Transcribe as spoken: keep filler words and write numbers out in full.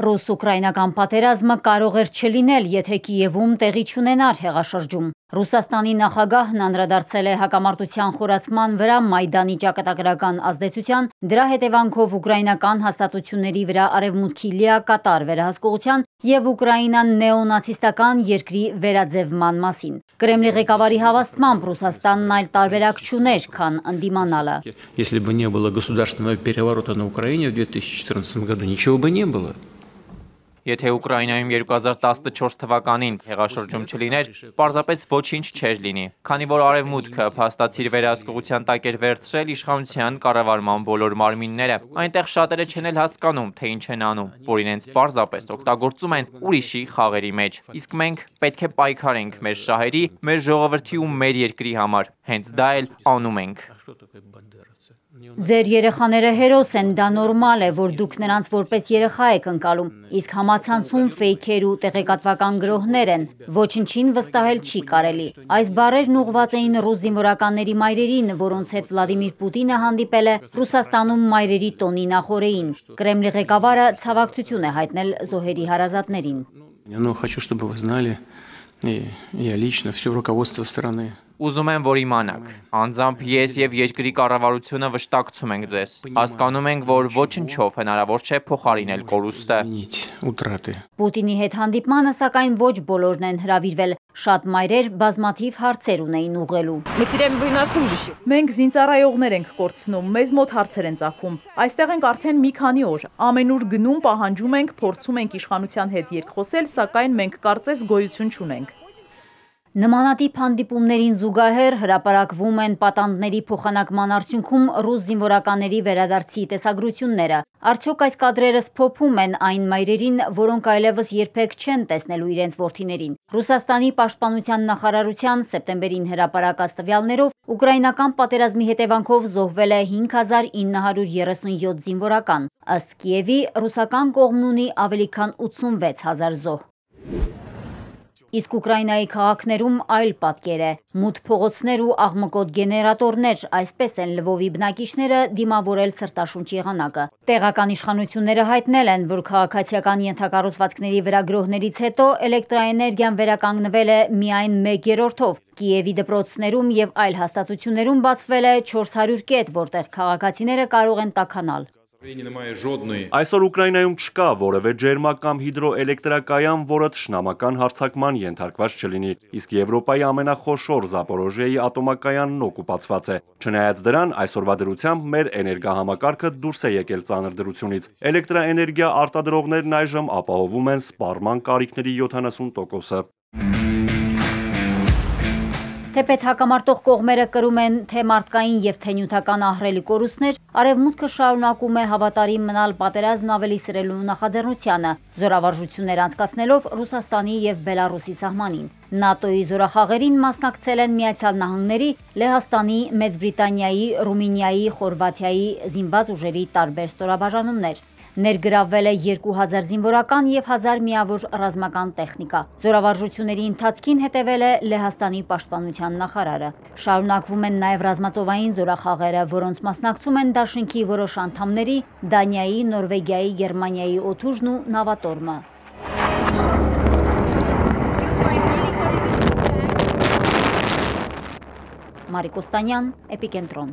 Ռուս-ուկրաինական պատերազմը կարող էր չլինել, եթե Կիևում տեղի չունենար հեղաշրջում։ Ռուսաստանի նախագահն անդրադարձել է հակամարտության խորացման վրա Մայդանի ճակատագրական ազդեցության, դրա հետևանքով ուկրաինական հաստատությունների վրա արևմուտքի լիակատար վերահսկողության և Ուկրաինան նեոնացիստական երկրի վերաձևման մասին։ Կրեմլի ղեկավարի հավաստմամբ Ռուսաստանն այլ տարբերակ չուներ, քան ընդդիմանալը։ Если бы не было государственного переворота на Украине в две тысячи четырнадцатом году, ничего бы не было. Եթե Ուկրաինայում երկու հազար տասնչորս թվականին հեղաշրջում չլիներ, պարզապես ոչինչ չէր լինի, քանի որ արևմուտքը փաստացիր վերահսկողության տակ էր վերցրել իշխանության կառավարման բոլոր մարմինները, այնտեղ շատերը չեն էլ հասկանում, թե ինչ են անում, որ իրենց պարզապես օգտագործում են ուրիշի խաղերի մեջ, իսկ մենք պետք է պայքարենք մեր շահերի, մեր ժողովրդի ու մեր երկրի համար, հենց դա էլ անում ենք։ Ձեր երեխաները հերոս են, դա նորմալ է, որ դուք նրանց որպես երեխա եք ընկալում, իսկ համացանցում ֆեյքեր ու տեղեկատվական գրոհներ են, ոչնչին վստահել չի կարելի։ Այս բառերն ուղղված էին ռուս զինվորականների մայրերին, որոնց հետ Վլադիմիր Պուտինը հանդիպել է Ռուսաստանում մայրերի տոնի նախօրեին։ Կրեմլի ղեկավարը ցավակցություն է հայտնել զոհերի հարազատներին։ Но хочу, чтобы вы знали, и я лично, все руководство страны. Ուզում եմ, որ իմանաք, անձամբ ես և երկրի կառավարությունը վշտակցում ենք ձեզ, հասկանում ենք, որ ոչնչով հնարավոր չէ փոխարինել կորուստը։ Պուտինի հետ հանդիպմանը, սակայն ոչ բոլորն են հրավիրվել, շատ մայրեր բազմաթիվ հարցեր ունեին ուղղելու։ Մենք զինծառայողներ ենք կորցնում, մեզ մոտ հարցեր են ծագում։ Այստեղ ենք արդեն մի քանի օր, ամենուր գնում, պահանջում ենք, փորձում ենք իշխանության հետ երկխոսել, սակայն մենք կարծես գոյություն չունենք։ Նմանատիպ հանդիպումներին զուգահեռ հրապարակվում են պատանդների փոխանակման արդյունքում ռուս զինվորականների վերադարձի տեսագրությունները։ Արդյոք այս կադրերը սփոփում են այն մայրերին, որոնք այլևս երբեք չեն տեսնելու իրենց որդիներին։ Ռուսաստանի պաշտպանության նախարարության սեպտեմբերին հրապարակած տվյալներով ուկրաինական պատերազմի հետևանքով զոհվել է հինգ հազար ինը հարյուր երեսունյոթ զինվորական։ Ըստ Կիևի, ռուսական կողմն ունի ավելի քան ութսունվեց հազար զոհ։ Իսկ Ուկրաինայի քաղաքներում այլ պատկեր է։ Մութ փողոցներ ու աղմկոտ գեներատորներ, այսպես են Լվովի բնակիչները դիմավորել ցրտաշունչ եղանակը։ Տեղական իշխանությունները հայտնել են, որ քաղաքացիական ենթակառուցվածքների վրա գրոհներից հետո էլեկտրաէներգիան վերականգնվել է միայն մեկ երրորդով։ Կիևի դպրոցներում և այլ հաստատություններում բացվել է չորս հարյուր կետ, որտեղ քաղաքացիները կարող են տաքանալ։ Այսօր Ուկրաինայում չկա որևէ ջերմակ կամ հիդրոէլեկտրակայան, որը թշնամական հարձակման ենթարկված չլինի, իսկ Եվրոպայի ամենախոշոր Զապորոժիայի ատոմակայանն օկուպացված է։ Չնայած դրան, այսօրվա դրությամբ մեր էներգահամակարգը դուրս է եկել ծանր դրությունից։ Էլեկտրաէներգիա արտադրողներն այժմ ապահովում են սպառման կարիքների յոթանասուն տոկոսը։ Թեպետ հակամարտող կողմերը կրում են թե մարդկային և թե նյութական ահռելի կորուստներ, արևմուտքը շարունակում է հավատարիմ մնալ պատերազմն ավելի սրելու նախաձեռնությանը, զորավարժություններ անցկացնելով Ռուսաստանի և Բելառուսի սահմանին։ ՆԱՏՕ-ի զորախաղերին մասնակցել են Միացյալ Նահանգների, Լեհաստանի, Մեծ Բրիտանիայի, Ռումինիայի, Խորվաթիայի զինված ուժերի տարբեր ստորաբաժանումներ։ Ներգրավվել է երկու հազար զինվորական և հազար միավոր ռազմական տեխնիկա։ Զորավարժությունների ընթացքին հետևել է Լեհաստանի պաշտպանության նախարարը։ Շարունակվում են նաև ռազմածովային զորախաղերը, որոնց մասնակցում են դաշինքի որոշ անդամների, Դանիայի, Նորվեգիայի, Գերմանիայի օդուժն ու նավատորմը։ Մարիկ Օստանյան, Էպիկենտրոն։